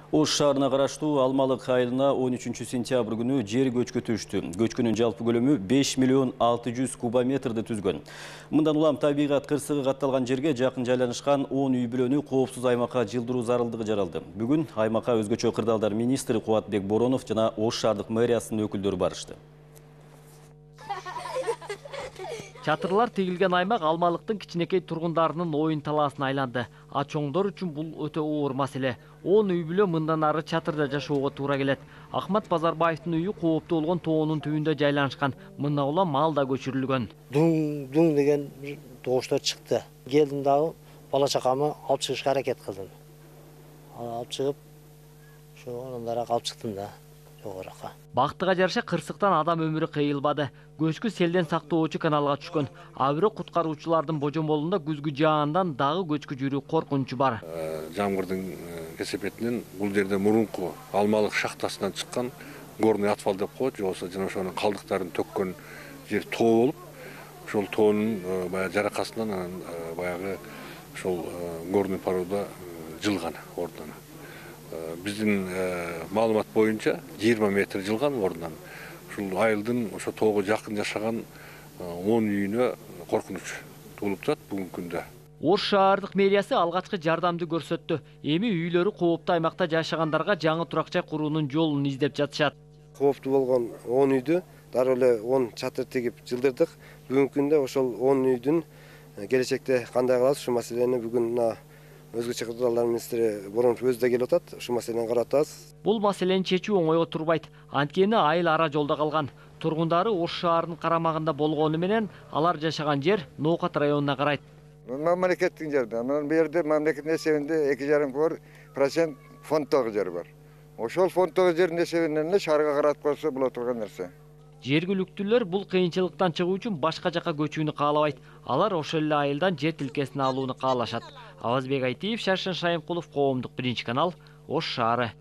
Ош шаарына караштуу Алмалык айылына 13-сентябрь күнү жер көчкү түштү. Көчкүнүн жалпы көлөмү 5 миллион 600 кубометрди түзгөн. Мындан улам табигат кырсыгы катталган жерге жакын жайланышкан 10 үй бүлөнү коопсуз аймакка жылдыруу зарылдыгы жаралды. Бүгүн аймакка өзгөчө кырдаалдар министри Кубатбек Боронов жана Ош шаардык мэриясынын өкүлдөрү барышты. Чатырлар тигилген аймак Алмалыктын кичинекей тургундарынын оюн талаасына айланды. А чоңдор үчүн бул өтө оор маселе. 10 үй бүлө мындан ары чатырда жашоого туура келет. Ахмат Базарбаевдин үйү кооптуу болгон тоонун түбүндө жайланышкан. Мындан улам мал да көчүрүлгөн. Дуң деген добуштар чыкты. Келдим дагы бала чакамы алып чыгышка аракет кылдым. Алып чыгып, ошо андан алып чыктым да. Бактыга жараша кырсыктан адам өмүрү кыйылбады. Көчкү селден сактоочу каналга түшкөн. А бирок куткаруучулардын божомолунда күзгү жаандан дагы көчкү жүрүү коркунучу бар. Жамгырдын кесепетинен бул жерде мурунку Алмалык шахтасынан чыккан горный отвал деп коет, же болбосо жана ошонун калдыктарын төккөн жер тоо болуп, ошол тоонун баягы жаракасынан баягы ошол горный поруда жылган ордуна. Биздин маалымат боюнча 20 метр жылган ордунан. Ушул айылдын ошо тоого жакын жашаган 10 үйүнө коркунуч туулуп турат бүгүнкү күндө. Ош шаардык мэриясы алгачкы жардамды көрсөттү. Эми үйлөрү кооптуу аймакта жашагандарга жаңы турак жай куруунун жолун издеп жатышат. Кооптуу болгон 10 үйдү дароо эле 10 чатыр тигип жылдырдык. Бүгүнкү күндө ошол 10 үйдүн келечекте кандай кылабыз, ушул маселени бүгүн өзгөчө кырдаалдар министри Боронов өзү да келип атат, ушул маселени карап атабыз. Бул маселени чечүү оңойго турбайт. Анткени айыл ара жолдо калган. Тургундары Ош шаарынын карамагында болгону менен алар жашаган жер Ноокат районуна карайт. Мамлекеттин жерде. Анан бу жерде мамлекеттин эсебинде 2,5% фонддогу жер бар. Ошол фонддогу жердин эсебинен эле шаарга каратып койсо боло турган нерсе. Жергиликтүүлөр бул кыйынчылыктан чыгуу үчүн башка жака көчүүнү каалабайт. Алар ошол эле айылдан жер тилкесин алууну каалашат. Авазбек Айтиев, Шаршын Шайымкулов, Коомдук биринчи канал, Ош шаары.